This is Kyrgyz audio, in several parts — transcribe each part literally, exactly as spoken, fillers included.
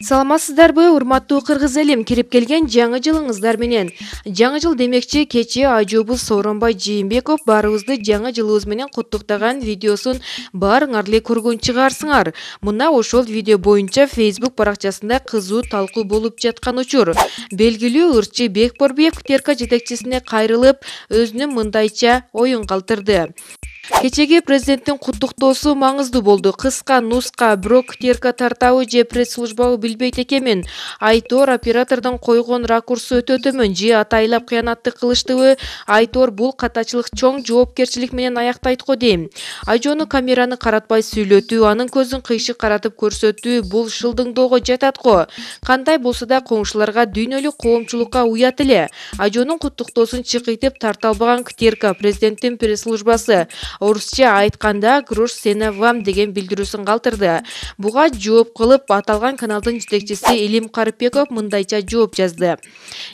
Саламатсыздарбы, урматтуу кыргыз элим, кирип келген жаңы жылыңыздар менен. Жаңы жыл демекчи, кечээ ажообуз Сооронбай Жээнбеков баарыбызды жаңы жылыбыз менен куттуктаган видеосун баарыңар эле көргөн чыгарсыңар. Мына ошол видео боюнча Facebook баракчасында кызуу талкуу болуп жаткан учур. Белгилүү ырчы Бекборбиев Кытерка жетекчисине кайрылып, өзүнүн мындайча оюн калтырды. Кечеги президенттин куттуктоосу маңыздуу болду. Кыска нуска, бирок Кытерка тартабы же пресс-службабы билбейт экенмин. Айтор оператордун койгон ракурсу өтө төмөн же атайлап кыянаттык кылыштыбы? Айтор бул катачылык чоң жоопкерчилик менен аяктайт го дейм. Ажону камераны каратпай сүйлөтүү, анын көзүн кыйшык каратып көрсөтүү бул шылдыңдоого жатат го. Кандай болсо да коңшуларга дүйнөлүк коомчулукка уят эле. Ажонун куттуктоосун чыкытып тарта албаган Кытерка президенттин пресс-службасы орусча айтканда «Грош сена вам» деген билдирүүсүн калтырды. Буга жооп кылып аталган каналдын жетекчиси Элим Карыпбеков мындайча жооп жазды.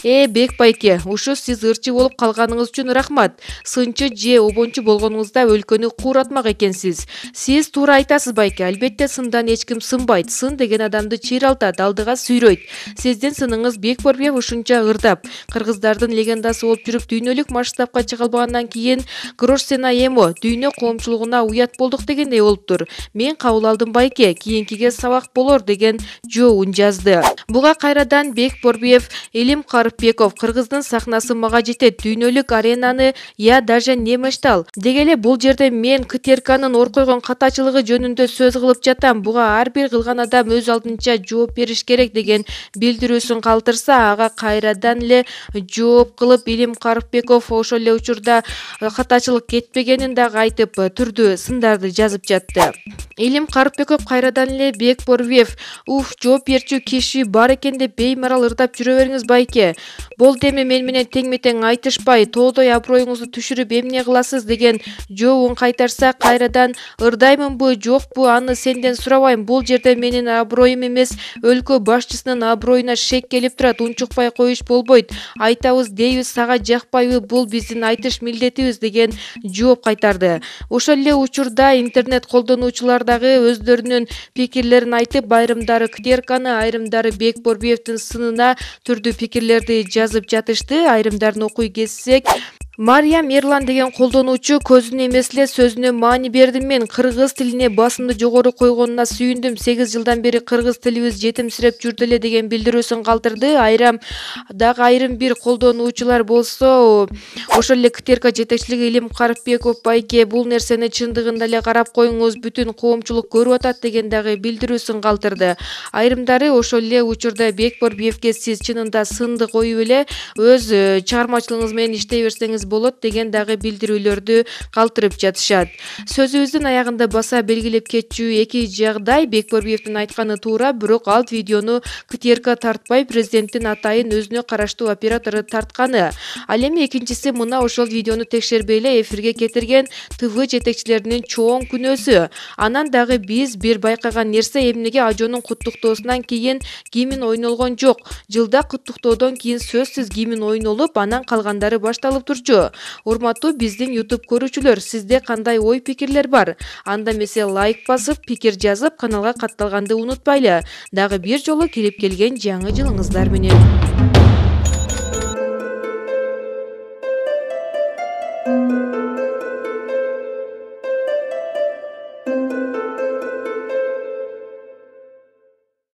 Э, Бек байке, ушу сиз ырчы болуп калганыңыз үчүн рахмат. Сынчы же обончу болгонуңузда өлкөнү кууратмак экенсиз. Сиз туура айтасыз байке, албетте сындан эч ким сынбайт. Сын деген адамды чыйралтат, алдыга сүйрөйт. Сиздин сыныңыз Бекборбиев ушунча ырдап, кыргыздардын легендасы болуп жүрүп дүйнөлүк масштабка чыга албагандан кийин «Грош сена эмо» дүйнө коомчулугуна уят болдук дегендей болуптур. Мен кабыл алдым байке, кийинкиге сабак болор деген жообун жазды. Буга кайрадан Бекборбиев Элим Карыпбеков кыргыздын сахнасы мага жетет, дүйнөлүк аренаны я даже не мечтал. Дегеле бул жерде мен Кытерканын ор койгон катачылыгы жөнүндө сөз кылып жатам. Буга ар бир кылган адам өз алдынча жооп бериш керек деген билдирүүсүн калтырса, ага кайрадан эле жооп кылып Элим Карыпбеков ошол эле учурда катачылык кетпегенин да айтып, түрдүү сындарды жазып жатты. Элим Карыпбеков кайрадан эле Бекборбиев «Уф, жооп берчү киши бар экен деп беймарал ырдап жүрө бериңиз байке. Болду эми мен менен тең-метең айтышпай, тоодой аброюңузду түшүрүп эмне кыласыз» деген жообун кайтарса, кайрадан «Ырдаймынбы, жокпу, аны сенден сурабайм. Бул жерде менин аброюм эмес, өлкө башчысынын аброюна шек келип турат. Унчукпай коюш болбойт. Айтабыз дейбиз, сага жакпайбы, бул биздин айтыш милдетибиз» деген жооп кайтарды. Ошол эле учурда интернет колдонуучулар дагы өздөрүнүн пикирлерин айтып, айрымдары Кытерканы, айрымдары Бекборбиевдин сынына түрдүү пикирлерди жазып жатышты. Айрымдарын окуй кетсек, Мариям Эрлан деген колдонуучу көзүнө эмес эле сөзүнө маани бердим мен. Кыргыз тилине басымды жогору койгонуна сүйүндүм. сегиз жылдан бери кыргыз тилибиз жетимсиреп жүрдү эле деген билдирүүсүн калтырды. Айрам дагы айрым бир колдонуучулар болсо, ошол эле Кытерка жетекчилиги Элим Карыпбеков байке, бул нерсени чындыгында эле карап коюңуз, бүтүн коомчулук көрүп атат деген дагы билдирүүсүн калтырды. Айрымдары ошол эле учурда Бекборбиевге сиз чынында сынды коюп эле өз чыгармачылыгыңыз менен иштей берсеңиз болот деген дагы билдирүүлөрдү калтырып жатышат. Сөзүбүздүн аягында баса белгилеп кетчү эки жагдай. Бекборбиевдин айтканы туура, бирок ал видеону Кытерка тартпай, президенттин атайын өзүнө караштуу оператору тартканы. Ал эми экинчиси мына ошол видеону текшербей эле эфирге кетирген ТВ жетекчилеринин чоң күнөөсү. Анан дагы биз бир байкаган нерсе, эмнеге Ажонун куттуктоосунан кийин гимн ойнолгон жок. Жылда куттуктоодон кийин сөзсүз гимн ойнолуп, анан калгандары башталып турчу. Урматтуу биздин YouTube көрүүчүлөр, сизде кандай ой пикирлер бар? Анда эмесе лайк басып, пикир жазып, каналга катталганды унутпайлы. Дагы бир жолу кирип келген жаңы жылыңыздар менен.